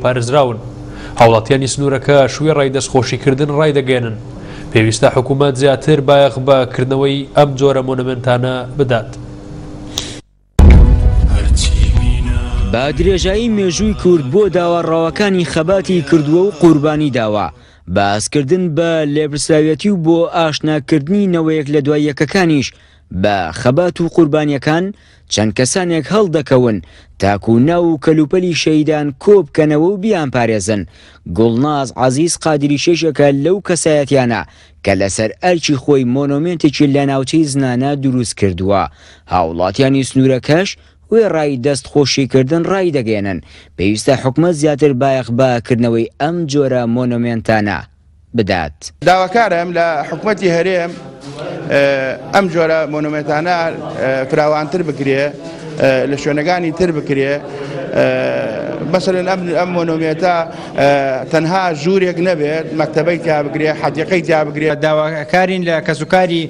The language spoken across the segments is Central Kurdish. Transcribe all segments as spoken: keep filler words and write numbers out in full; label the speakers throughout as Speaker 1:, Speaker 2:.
Speaker 1: پارێزراون. هاوڵاتیانی سنوورەکە وێڕای دەستخۆشیکردن ڕایدەگەیەنن پێویستە حکوومەت زیاتر بایەخ بە کردنەوەی ئەم جۆرە مۆنۆمێنتانە بدات.
Speaker 2: بە درێژایی مێژووی کورد بۆ داوا ڕەواکانی خەباتی کردووە و قوربانی داوە، باسکردن بە لێپرسراویەتی و بۆ ئاشناکردنی نەوەیەک لە دوای یەکەکانیش بە خەبات و قوربانیەکان چەند کەسانێک هەڵدەکەون تاکو ناو و کەلوپەلی شەهیدان کۆ بکەنەوە و بیان پارێزن. گوڵناز عەزیز قادری شێشێکە لەو کەسایەتیانە کە لەسەر ئەرکی خۆی مۆنۆمێنتێکی لە ناوچەی زنانە دروست کردووە. هاوڵاتیانی سنوورەکەش وێڕای دەست خۆشیکردن ڕایدەگەیەنن پێویستە حکومەت زیاتر بایەخ بە کردنەوەی ئەم جۆرە مۆنۆمێنتانە بدات.
Speaker 3: داواکارم لە حکومەتی هەرێم ئەم جۆرە مۆنۆمێنتانە فراوانتر بکرێ، لە شوێنەکانی تر بکرێ. مەسەلەن ئەم مۆنۆمێنتە تەنها ژوورێک نەبێت، مەکتەبەی تیا بگرێ، حەدیقەی تیا بگرێ.
Speaker 4: داواکارین لە کەسوکاری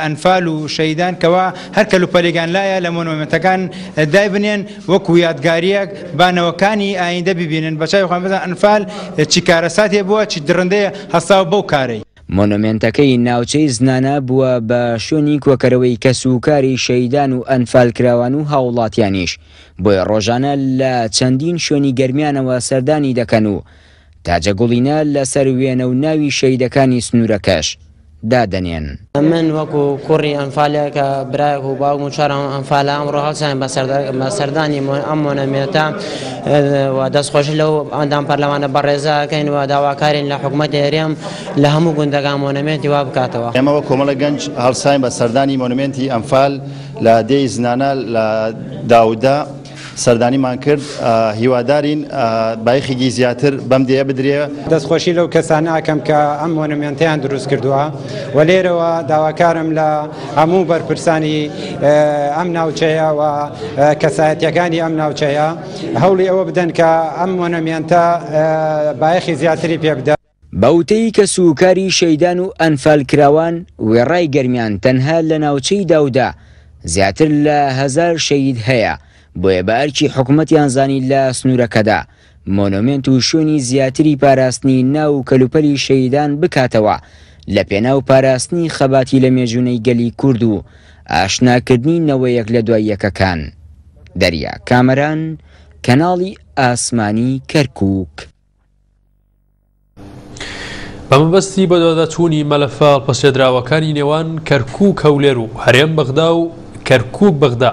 Speaker 4: ئەنفال و شەهیدان کەوا هەر کەلوپەلێکیان لایە لە مۆنۆمێنتەکان دایبنێن وەکو یادگاریەک بانەوەکانی ئایندە ببینن، بە چاوی خۆیان بزانن ئەنفال چی کارەساتێ بووە، چی دڕندەیە هەستاوە بەو کارەی.
Speaker 2: مۆنۆمێنتەکەی ناوچەی زنانە بووە بە شوێنی کۆکەرەوەی کەسوکاری شەهیدان و ئەنفالکراوان و هاوڵاتیانیش، بۆیە ڕۆژانە لە چەندین شوێنی گەرمیانەوە سەردانی دەکەن و تاجەگوڵینە لەسەر وێنە و ناوی شەهیدەکانی سنوورەکەش دادەنێن.
Speaker 5: من وەکو کوڕی ئەنفالێک کە برایەک و باوکم و چوارم ئەنفالە، ئەمڕۆ هەڵساین بە سەردانی ئەم مۆنۆمێنتە و دەستخۆشی لەو ئەندام پەرلەمانە بەڕێزەکەین و داواکارین لە حکومەتی هەرێم لە هەموو گوندەکان مۆنۆمێنتی وا بکاتەوە.
Speaker 6: ئێمە وەک کۆمەڵە گەنج هەڵساین بە سەردانی مۆنۆمێنتی ئەنفال لە دێی زنانە لە داوودە سەردانیمان کرد. هیوادارین بایەخێکی زیاتر بەم دێیە بدرێ.
Speaker 4: دەستخۆشی لەو کەسانە ئەکەم کە ئەم مۆنۆمێنتیان دروست کردووە و لێرەوە داواکارم لە هەموو بەرپرسانی ئەم ناوچەیە و کەسایەتیەکانی ئەم ناوچەیە هەوڵی ئەوە بدەن کە ئەم مۆنۆمێنتە بایەخی زیاتری پێ بدەن.
Speaker 2: بەوتەی کەسوکاری شەهیدان و ئەنفالکراوان وێڕای گەرمیان تەنها لە ناوچەی داودا زیاتر لە هەزار شەهید هەیە، بۆیە بە ئەرکی حکومەتیان زانی لە سنوورەکەدا مۆنۆمێنت و شوێنی زیاتری پاراستنی ناو و کەلوپەلی شەهیدان بکاتەوە لە پێناو پاراستنی خەباتی لە مێژوونەی گەلی کورد و ئاشناکردنی نەوەیەک لە دوای یەکەکان. دەریا کامەران، کەناڵی ئاسمانی کەرکووک.
Speaker 1: بە مەبەستی بەدواداچوونی مەلەفە هەڵپەسێردراوەکانی نێوان کەرکووک هەولێر و هەرێم بەغدا و کەرکووک بەغدا